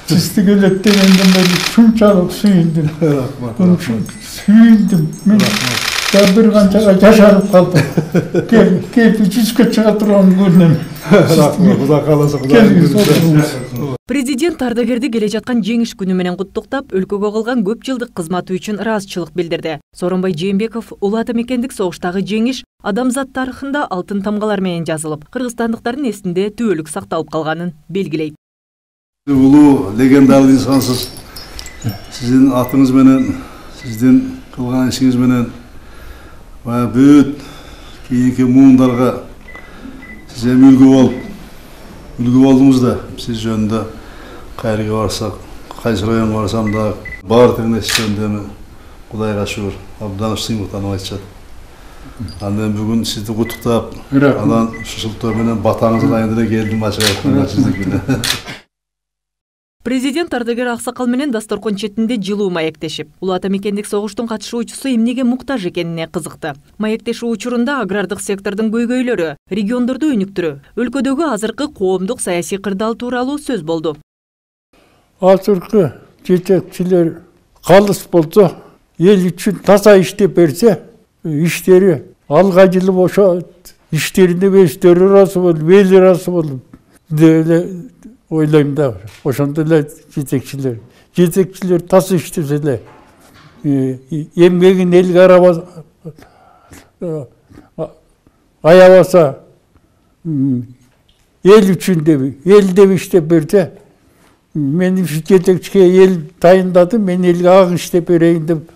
Сизди келеттегенден бери шунчалык сүйүндүм. Сүйүндүм. Мен бир канчага жашанып калдым. Келип жүзгө чыга турган күнүм. Кудай кааласа, Кудай. Президент ардагерди келе жаткан жеңиш күнү менен куттуктап, өлкөгө кылган көп жылдык кызматы үчүн ыраазычылык билдирди. Сооронбай Жээнбеков улуу ата мекендик согуштагы жеңиш адамзат тарыхында алтын тамгалар менен жазылып, кыргызстандыктардын эсинде түбөлүк сакталып калганын белгилейт. Улуу легендалык инсансыз. Сиздин атыңыз менен, сиздин кылган ишиңиз менен бүт кийинки муундарга сиз эми үлгү болдуңуз да. Сиз жөнүндө кайерге барсак, кайсы районго барсам да баардыгын эсчендеми Кудайга шүгүр, абдан сыймыктанып айтышат. Андан бүгүн сизди куттуктап, анан ушул менен батаңызды айында эле келдим ачык сиздикине. Президент ардагер аксакал менен дасторкон четинде жылуу маектешип, улуу ата мекендик согуштун катышуучусу эмнеге муктаж экенине кызыкты. Маектешүү учурунда агрардык сектордун көйгөйлөрү, региондорду өнүктүрүү, өлкөдөгү азыркы коомдук саясий кырдаал тууралуу сөз болду. Азыркы жетекчилер калыс болсо, эл үчүн таза иштеп берсе, иштери алга жылып ошо иштерине өздөрү ыраазы болуп, эл ыраазы болуп деле ойлойм да. Ошондой эле жетекчилер таза иштесе эле, эмгегин элге аябаса, эл үчүн эл деп иштеп берсе, мен жетекчиге эл тайындады, мен элге ак иштеп берейин деп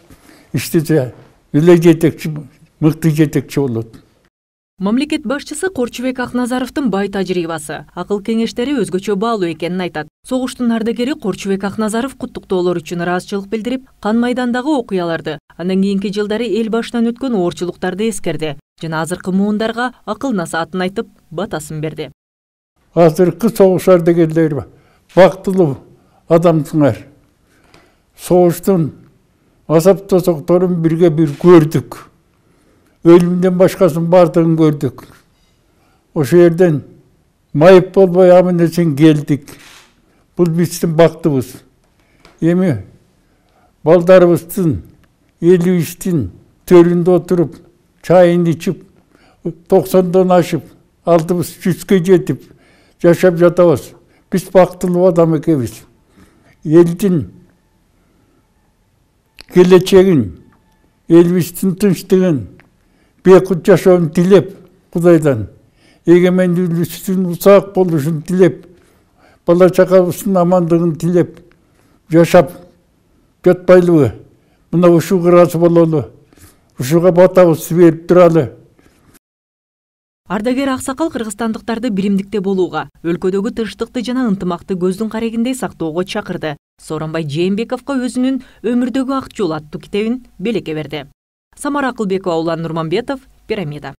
иштесе, эле жетекчи мыкты жетекчи болот. Мамлекет башчысы Корчубек Акназаровдун бай тажрыйбасы, акыл кеңештери өзгөчө баалуу экенин айтат. Согуштун ардагери Корчубек Акназаров куттуктоолор үчүн ыраазычылык билдирип, кан майдандагы окуяларды, андан кийинки жылдары эл башынан өткөн оорчулуктарды эскерди жана азыркы муундарга акыл насаатын айтып, батасын берди. Азыркы согуш ардагерлери бактылуу адамсыңар. Согуштун азап тозокторун бир көрдүк. Өлүмдөн башкасын бардыгын көрдүк. Ошо жерден майып болбой аман-эсен келдик. Бул биздин бактыбыз. Эми балдарыбыздын, элибиздин төрүндө отуруп, чайын ичип, 90дон ашып, алдыбыз 100гө жетип жашап жатабыз. Биз бактылуу адам экенбиз. Элдин келечегин, элибиздин тынчтыгын, бейкут жашоонун тилеп, Кудайдан эгемендүүлүктүн узак болушун тилеп, бала чакабыздын амандыгын тилеп, жашап жатпайлыбы? Мына ушуга ыраазы бололу, ушуга батабызды берип туралы. Ардагер аксакал кыргызстандыктарды биримдикте болууга, өлкөдөгү тынчтыкты жана ынтымакты көздүн карегиндей сактоого чакырды. Сооронбай Жээнбековго өзүнүн Өмүрдөгү ак жол аттуу китебин белекке берди. Самара Акылбекова, Улан Нурманбетов, Пирамида.